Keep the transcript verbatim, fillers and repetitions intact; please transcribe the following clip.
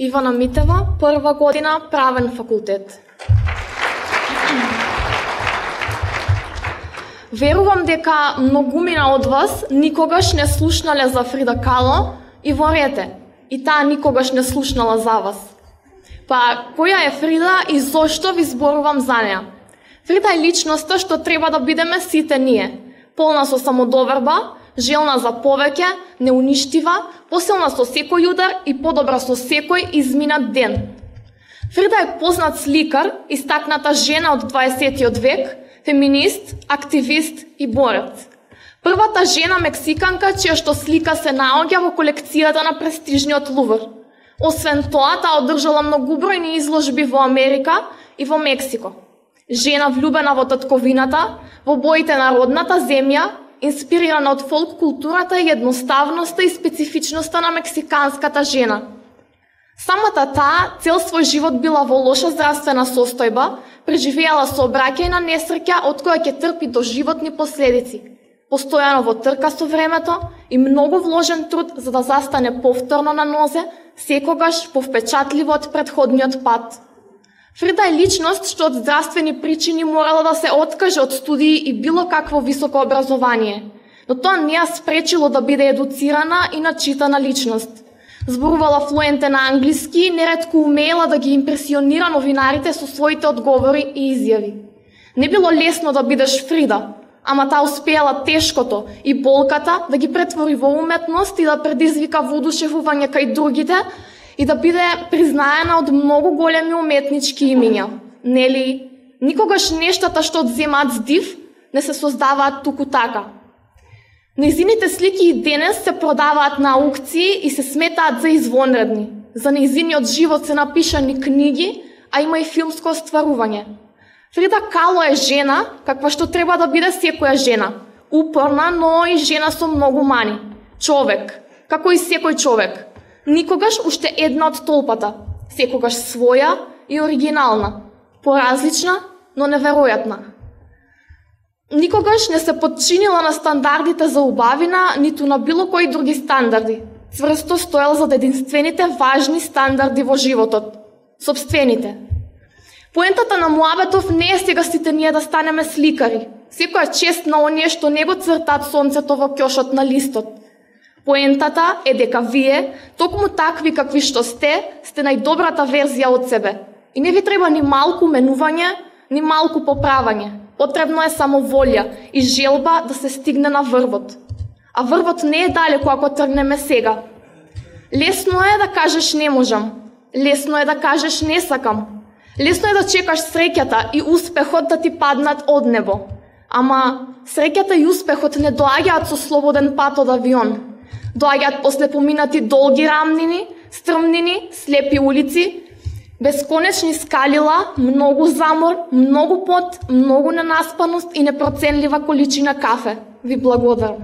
Ивана Митева, прва година правен факултет. Верувам дека многумина од вас никогаш не слушнале за Фрида Кало и ворете, и таа никогаш не слушнала за вас. Па, која е Фрида и зошто ви зборувам за неа? Фрида е личноста што треба да бидеме сите ние. Полна со самодоверба, желна за повеќе, неуништива, посилна со секој удар и подобра со секој изминат ден. Фрида е познат сликар, истакната жена од дваесеттиот век, феминист, активист и борец. Првата жена мексиканка чија што слика се наоѓа во колекцијата на престижниот Лувр. Освен тоа, таа одржала многубројни изложби во Америка и во Мексико. Жена влюбена во татковината, во боите на родната земја, инспирирана од фолк културата и едноставноста и специфичноста на мексиканската жена. Самата таа цел свој живот била во лоша здравствена состојба, преживеала сообраќајна несреќа од која ќе трпи доживотни последици. Постојано во трка со времето и многу вложен труд за да застане повторно на нозе, секогаш повпечатливо од претходниот пат. Фрида е личност што од здравствени причини морала да се откаже од студии и било какво високо образование, но тоа не ја спречило да биде едуцирана и начитана личност. Зборувала флуентен на англиски и неретко умеела да ги импресионира новинарите со своите одговори и изјави. Не било лесно да бидеш Фрида, ама таа успеала тешкото и болката да ги претвори во уметност и да предизвика воодушевување кај другите и да биде признаена од многу големи уметнички имиња. Нели, никогаш нештата што одземаат здив не се создаваат туку така. Нејзините слики и денес се продаваат на аукции и се сметаат за извонредни. За нејзиниот живот се напишани книги, а има и филмско остварување. Фрида Кало е жена, каква што треба да биде секоја жена. Упорна, но и жена со многу мани. Човек, како и секој човек. Никогаш уште една од толпата. Секогаш своја и оригинална. Поразлична, но неверојатна. Никогаш не се подчинила на стандардите за убавина, ниту на било кои други стандарди. Цврсто стоел за единствените важни стандарди во животот. Собствените. Поентата на муабетов не е сега сите ние да станеме сликари. Секоја чест на оние што не го цртаат сонцето во ќошот на листот. Поентата е дека вие, токму такви какви што сте, сте најдобрата верзија од себе. И не ви треба ни малку менување, ни малку поправање. Потребно е само волја и желба да се стигне на врвот. А врвот не е далеко ако тргнеме сега. Лесно е да кажеш не можам. Лесно е да кажеш не сакам. Лесно е да чекаш среќата и успехот да ти паднат од небо. Ама среќата и успехот не доаѓаат со слободен пат од авион. Доаѓаат после поминати долги рамнини, стрмнини, слепи улици, бесконечни скалила, многу замор, многу пот, многу ненаспаност и непроценлива количина кафе. Ви благодарам.